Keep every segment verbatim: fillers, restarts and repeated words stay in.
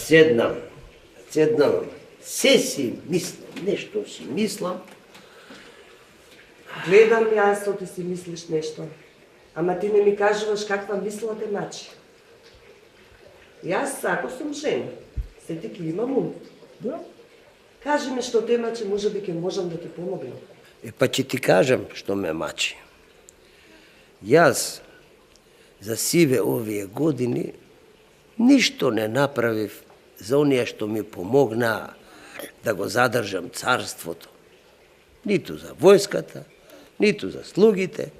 седнам, седнам, се си мислам, нешто си мислам. Гледам јас, ти си мислиш нешто. Ама ти не ми кажуваш каква мисла те мачи. Јас, ако сум жена, се ти ки имам ум. Да? Кажи ми што те мачи, може би ке можам да ти помогнам. Е, па ќе ти кажам што ме мачи. Јас за сиве овие години ништо не направив за оние што ми помогнаа да го задржам царството. Ниту за војската, ниту за слугите,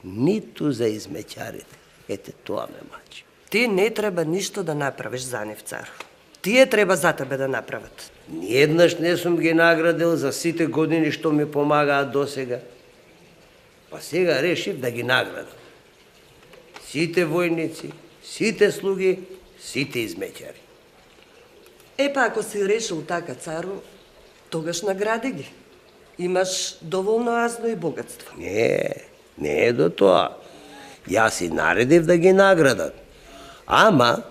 ниту за измеќарите. Ете, тоа ме мачи. Ти не треба ништо да направиш за нив, цар. Тие треба за тебе да направат. Ниеднаш не сум ги наградил за сите години што ми помагаат досега. Па сега решив да ги наградам. Сите војници, сите слуги, сите измеќари. Епа, ако си решил така, цару, тогаш награди ги. Имаш доволно азно и богатство. Не, не е до тоа. Јас и наредив да ги наградат. Ама,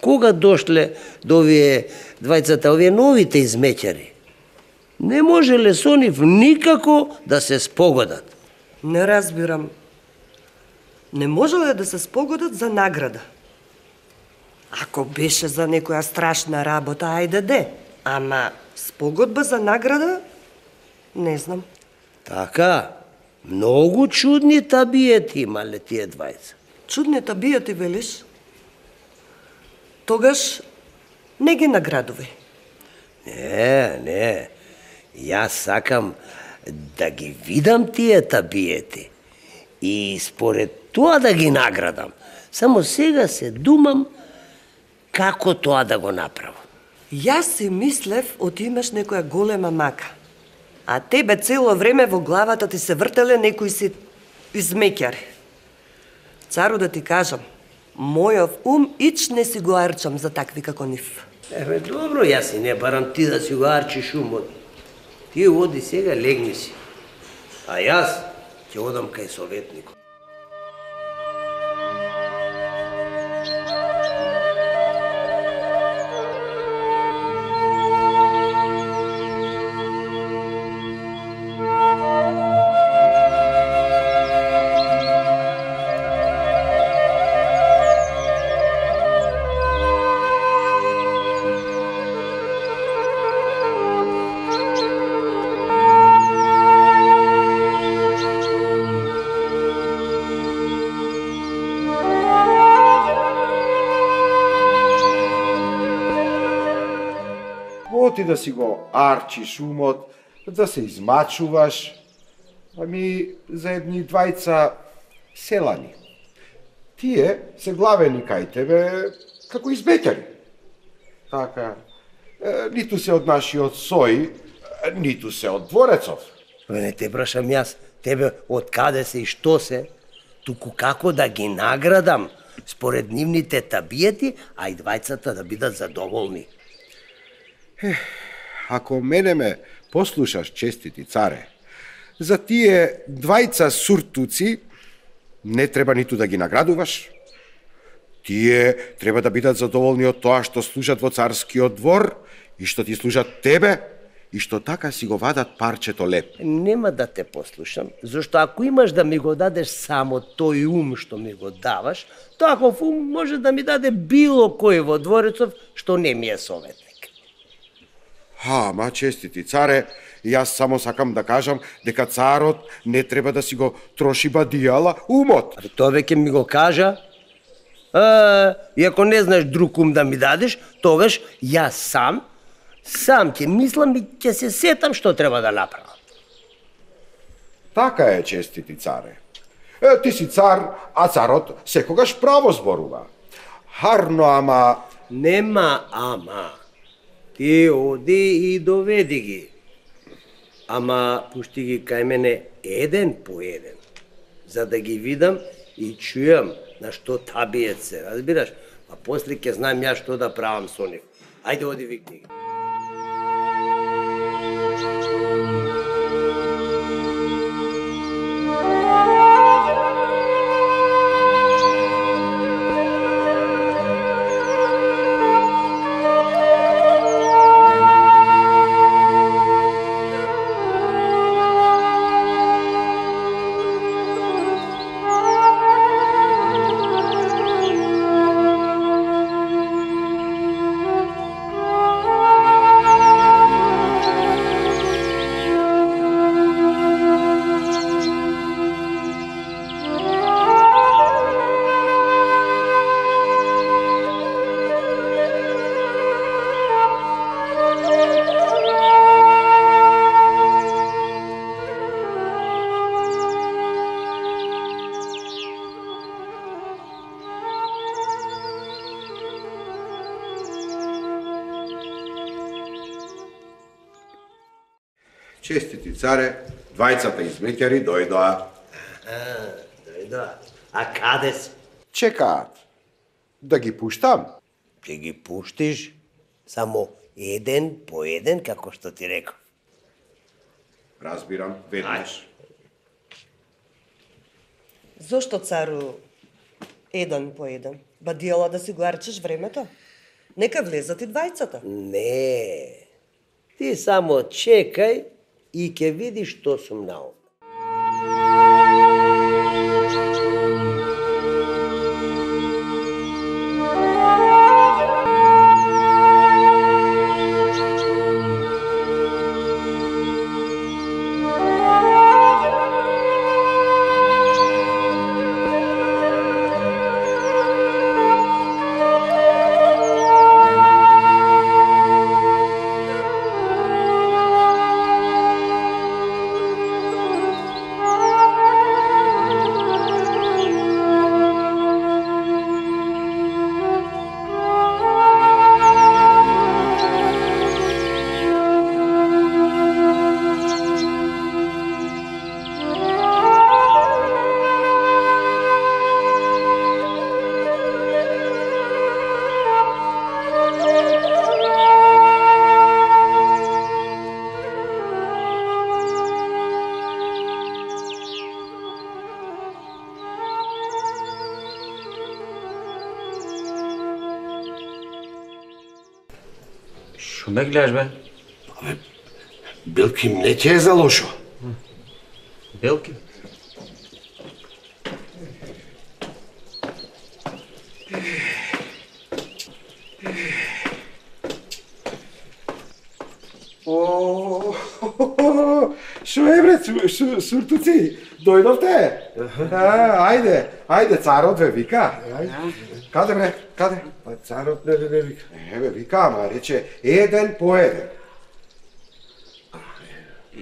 кога дошле до овие двајцата, овие новите измеќари, не можеле со нив никако да се спогодат. Не разбирам. Не можеле да се спогодат за награда. Ако беше за некоја страшна работа, ајде де. Ама спогодба за награда, не знам. Така, многу чудни табиети имале тие двајца. Чудни табиети, велиш? Тогаш не ги наградувај. Не, не. Јас сакам да ги видам тие табиети и според тоа да ги наградам. Само сега се думам како тоа да го направам. Јас си мислев од имаш некоја голема мака. А тебе цело време во главата ти се вртеле некои си измеќари. Цару, да ти кажам, мојов ум ич не си го арчам за такви како нив. Еве, добро, јас и не барам ти да си го арчиш умот. Ти оди сега, легни си. А јас ќе одам кај советникот. Ти да си го арчиш умот, да се измачуваш, ами за едни двајца селани. Тие се главени кај тебе како измеќари. Така, е, ниту се од нашиот сој, ниту се од дворецов. Не те прашам јас, тебе од каде се и што се, туку како да ги наградам според нивните табиети, а и двајцата да бидат задоволни. Ех, ако мене ме послушаш, честити царе, за тие двајца суртуци не треба ниту да ги наградуваш. Тие треба да бидат задоволни од тоа што служат во царскиот двор и што ти служат тебе и што така си го вадат парчето леп. Нема да те послушам, зашто ако имаш да ми го дадеш само тој ум што ми го даваш, таков ум може да ми даде било кој во дворецов што не ми е советник. Ха, ма честити царе, јас само сакам да кажам дека царот не треба да си го троши бадијала умот. А тоа веќе ми го кажа. А, и ако не знаеш друг ум да ми дадеш, тогаш јас сам, сам ќе мислам и ќе се сетам што треба да направам. Така е, честити царе. Е, ти си цар, а царот секогаш право зборува. Харно, ама... Нема ама. Ти оди и доведи ги. Ама пушти ги кај мене еден по еден, за да ги видам и чујам на што табиет се, разбираш? А после ќе знам ја што да правам со нив. Ајде, оди викни ги. Честити царе, двајцата измеќари дојдоа. Дојдоа. А каде се? Чекаат. Да ги пуштам? Ќе ги пуштиш само еден по еден, како што ти реков. Разбирам, веднаш. Зошто, цару, еден по еден? Ба диела да си го арчеш времето? Нека влезат и двајцата. Не. Ти само чекај и ќе видиш што сум наум. Шо ме гледаш, бе? Абе, Билки, не ќе е за лошо. Белки? О, шо е бре, суртуци, дојдовте? А, ајде, ајде, царот ве вика. Каде бре, каде? Па царот не не вика. Еве, вика, ама рече еден по еден.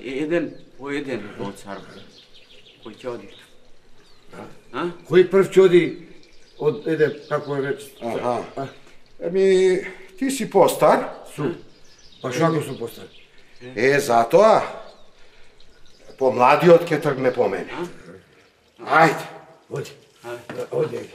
Еден по еден во цар. Кој ќе оди? А? Кој прв ќе оди од еден, како е реч? Аха. Еми, ти си постар. Сум. Па што ако сум постар? Е, затоа помладиот ќе тргне по мене. Ајде. Оди. Оди.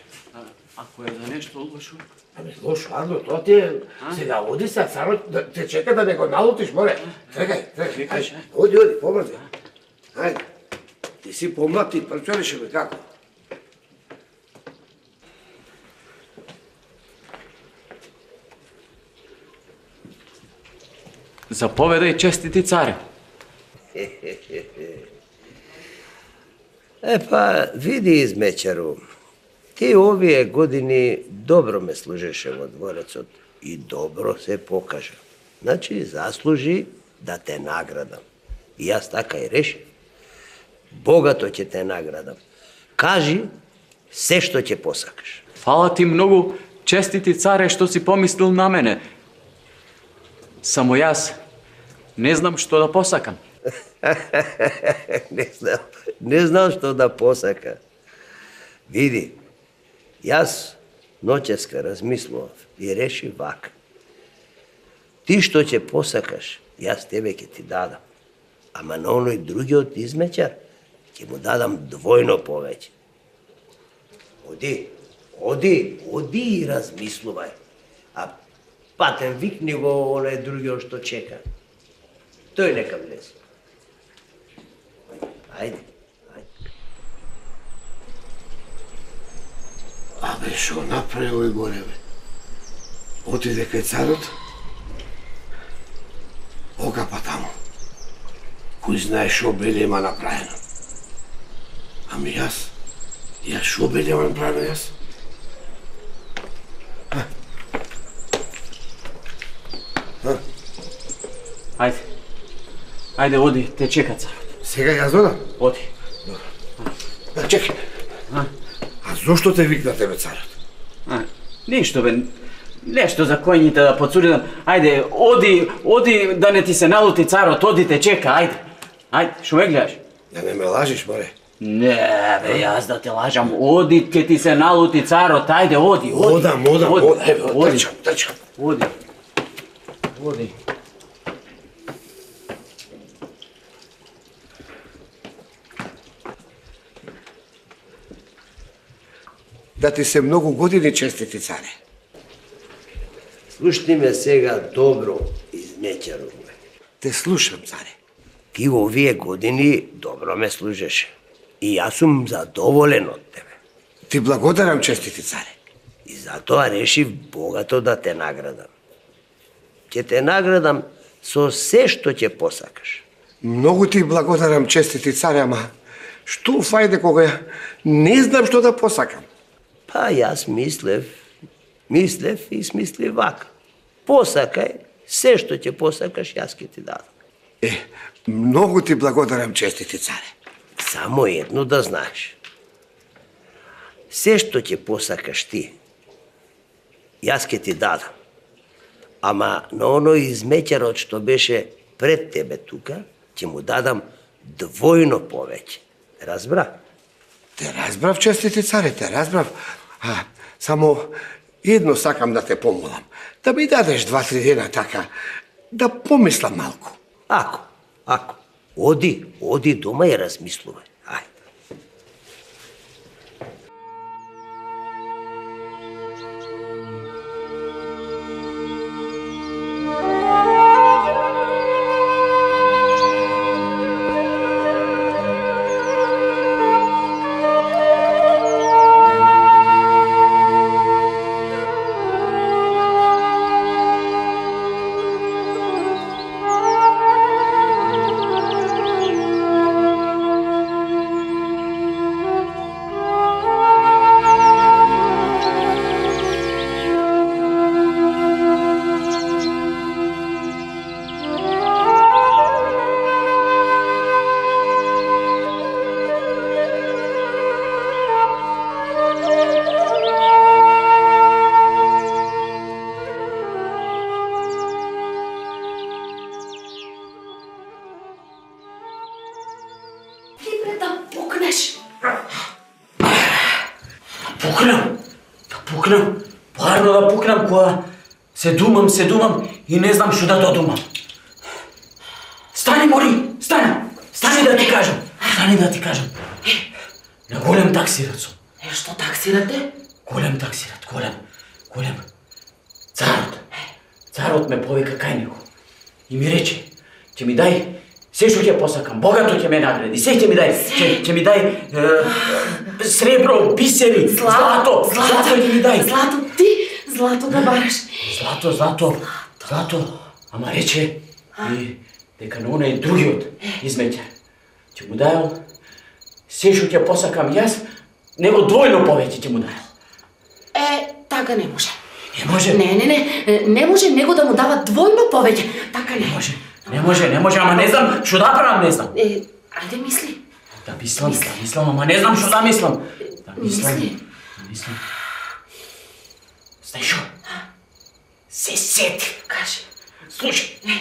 Ако е за нешто лошо? Абе, лошо, Ардо, тоа ти е... Сега оди са, царот да те чека да не го налутиш, море. Трекај, трекај. Ајде, оди, оди, побрзи. Ајде. Ти си помлад, ти прчориш бе, како? Заповедај, честити царе. Е па, види измечару, ти овие години добро ме служеше во дворецот и добро се покажа. Значи, заслужи да те наградам. И јас така и решив. Богато ќе те наградам. Кажи се што ќе посакаш. Фала ти многу, честити царе, што си помислил на мене. Само јас не знам што да посакам. не знам, не знам што да посака. Види, јас ноќеска размислував и решив вака. Ти што ќе посакаш, јас тебе ќе ти дадам. Ама на оној другиот измечар ќе му дадам двојно повеќе. Оди, оди, оди и размислувај. А патен викни го оној другиот што чека. Тој нека влезе. Ајде, ајде. Абе, шо направи овој горе, бе? Отиде кај царот? Окапа таму. Кој знае шо беле има направено? Ами јас? Јас шо беле има направено јас? Ајде. Ајде, оди, те чека царот. Сега јас додам? Оди. Да, чекай. А? А зошто те викна тебе царот? А, ништо бе, нешто за коњите да подсудам. Ајде, оди, оди да не ти се налути царот, оди те чека, ајде. Ајде, шо ме гледаш? Да не ме лажиш, море. Не, бе, јас да те лажам, оди, ке ти се налути царот, ајде, оди, оди. Одам, одам, Оди, одам, еве, оди. трчам, трчам. Оди. Оди. да ти се многу години, честити царе. Слушни ме сега добро, измеќаровме. Те слушам, царе. Ти во овие години добро ме служеше. И јас сум задоволен од тебе. Ти благодарам, честити царе. И затоа решив богато да те наградам. Ќе те наградам со се што ќе посакаш. Многу ти благодарам, честити царе, ама што фајде кога ја не знам што да посакам? Па јас мислев, мислев и смислив вака. Посакај, се што ќе посакаш, јас ќе ти дадам. Е, многу ти благодарам, честити царе. Само едно да знаеш. Се што ќе посакаш ти, јас ќе ти дадам. Ама на оној измеќарот што беше пред тебе тука, ќе му дадам двојно повеќе. Разбра? Те разбрав, честити царе, те разбрав. А, само едно сакам да те помолам. Да ми дадеш два-три дена така, да помислам малку. Ако, ако. Оди, оди дома и размислувај. Ајде. Пукнам, да пукнам, парно да пукнам кога се думам, се думам и не знам што да додумам. Стани, Мори, стани, стани да ти кажам, стани да ти кажам. На голем таксират сум. Е, што таксирате? Голем таксират, голем, голем. Царот, царот ме повика кај него и ми рече, ќе ми дај се што ќе посакам, богато ќе ме награди, се ќе ми дај, ќе, ќе ми дај е, сребро, бисери, злато, злато, злато ќе ми дај. Злато, ти, злато да бараш. Злато, злато, злато, ама рече и дека на онај другиот измеќар ќе му дајал се што ќе посакам јас, него двојно повеќе ќе му дајал. Е, така не може. Не може? Не, не, не, не може него да му дава двојно повеќе. Така не може. Не може, не може, ама не знам што да правам, не знам. Е, ајде мисли. Да мислам, да мислам, ама не знам што да мислам. Да мислам, Мисли. да мислам. Знаеш што? Се сети. Кажи. Слушај. Е,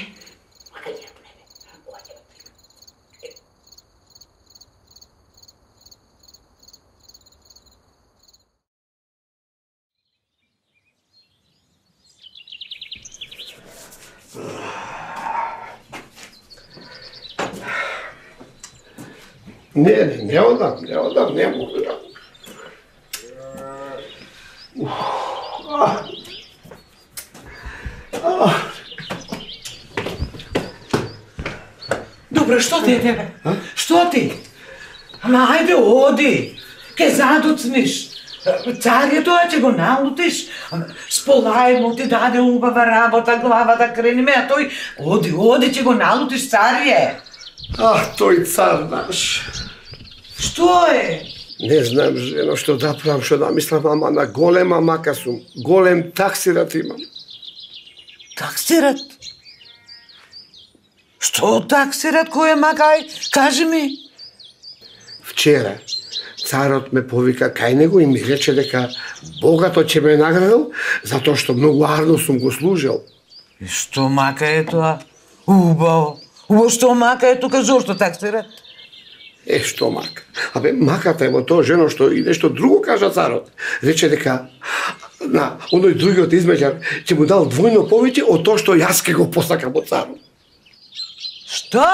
Не, не, не одам, не одам, не могу. Добро, што ти е тебе? Што ти? Ама ајде оди, ке задуцниш. Царието ќе го налутиш, сполај му ти даде убава работа, глава да крениме, а тој оди, оди ќе го налутиш, царие. А, тој цар наш. Што е? Не знам, жено, што да правам, што да мислам, ама на голема мака сум. Голем таксират имам. Таксират? Што таксират, кој е макај? Кажи ми. Вчера царот ме повика кај него и ми рече дека богато ќе ме наградил затоа што многу арно сум го служил. И што мака е тоа? Убаво. Убаво, што мака е тука, зошто таксират? Е, што мака? Абе, маката е во тоа, жено, што и нешто друго кажа царот. Рече дека на оној другиот измеѓар ќе му дал двојно повеќе од тоа што јас ке го посакам од царот. Што?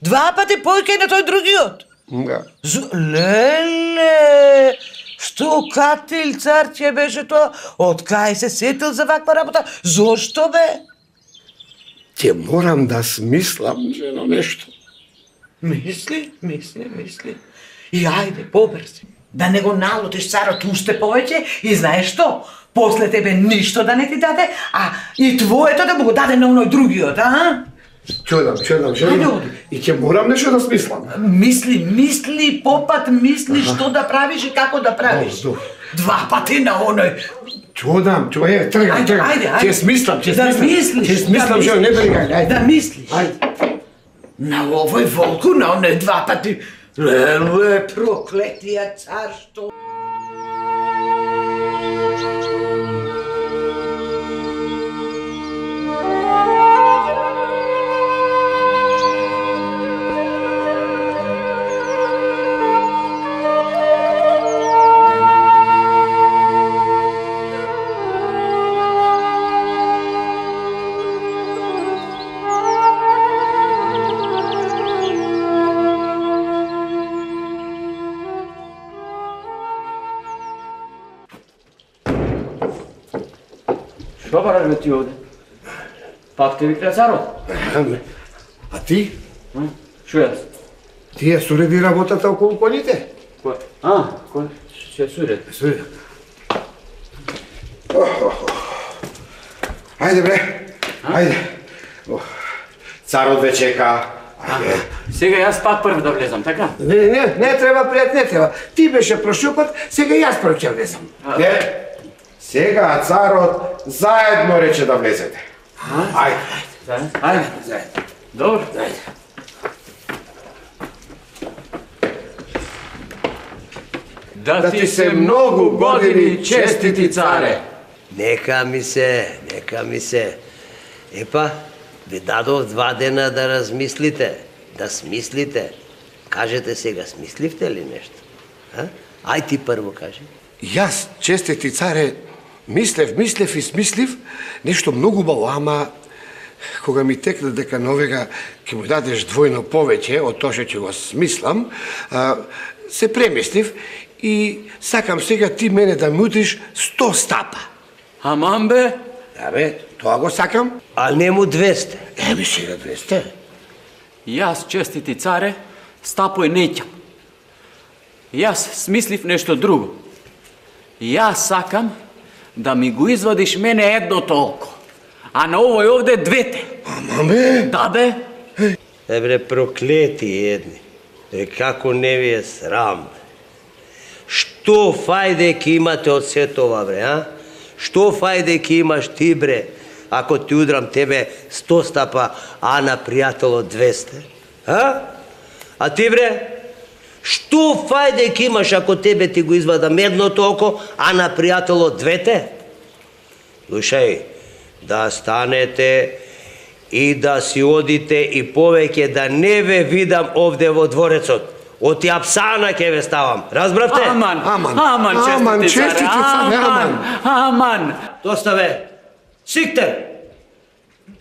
Два пати повеќе на тој другиот? Да. З... Леле! Што катил цар ќе беше тоа? Од кај се сетил за ваква работа? Зошто бе? Ќе морам да смислам, жено, нешто. Мисли, мисли, мисли. И ајде, побрзи. Да не го налутиш царот уште повеќе и знаеш што? После тебе ништо да не ти даде, а и твоето да му го даде на оној другиот, а? Чудам, чудам, Ајде, жено. оди. И ќе морам нешто да смислам. Мисли, мисли, попат мисли што да правиш и како да правиш. Добро, Два пати на оној. Чудам, чудам, е, тргам, Ајде, тргам. ајде, ајде. Ќе смислам, ќе Да смислам. мислиш, Ќе смислам, да жено, не мислиш. бригай, ајде. Да мислиш. Ајде. На овој волку, на оној два пати. Леле, проклетија цар, што... Што бараш бе ти овде? Пак те викна царот? Аме, а ти? М? Шо јас? Ти ја суреди работата околу коњите? Кој? А, кој? Се сурет. Суреди. Ајде бре, ајде. Ох, царот ве чека. Ајде. Сега јас пак прв да влезам, така? Не, не, не треба, пријат, не треба. Ти беше прошиот пат, сега јас прв ќе влезам. Не, сега царот заедно рече да влезете. Ајде. Заедно? Ајде. Заедно. Добро. Ајде. Да ти се многу години честити царе. Нека ми се, нека ми се. Епа, ви дадов два дена да размислите, да смислите. Кажете сега, смисливте ли нешто? А? Ај ти прво кажи. Јас, честити царе, мислев, мислев и смислив нешто многу баво, ама кога ми текна дека новега ќе му дадеш двојно повеќе од тоа што ќе го смислам, а, се премислив и сакам сега ти мене да ми утиш сто стапа. Аман бе? Да бе, тоа го сакам. А не му двесте. Еби сега двесте. Јас, честити царе, стапој неќам. Јас смислив нешто друго. Јас сакам да ми го извадиш мене едно толко, а на овој овде двете. Ама бе, Да бе? Ебре, проклети едни. Е, како не ви е срам. Што фајде ќе имате од сето ова, бре, а? Што фајде ќе имаш ти, бре, ако ти удрам тебе сто стапа, а на пријателот двесте? А? А ти, бре? Што фајде ќе имаш ако тебе ти го извадам едното око, а на пријателот двете? Слушај, да станете и да си одите и повеќе да не ве видам овде во дворецот. Од Апсана ќе ве ставам. Разбравте? Аман, Аман, аман, аман, честити царе, честити царе, аман, аман. Доста бе. Сиктер!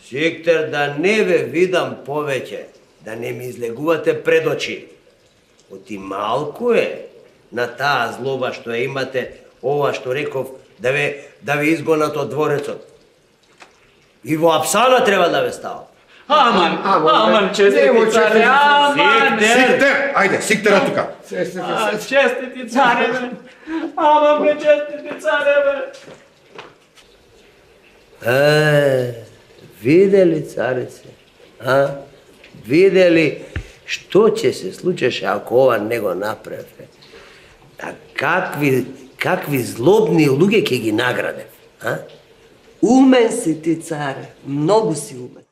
Сиктер да не ве видам повеќе, да не ми излегувате пред очи. Оти малку е на таа злоба што ја имате, ова што реков, да ве, да ве изгонат од дворецот. И во Апсана треба да ве ставам. Аман, Аман, аман, бе. честити Немо, царе, честити аман. Сиктер! Ајде, сиктера тука. А, честити царе, бе. Аман, бе, честити царе, бе. Е, видели, царице? А? Видели што ќе се случеше ако ова не го направе? А какви, какви злобни луѓе ќе ги наградев? А? Умен си ти, царе, многу си умен.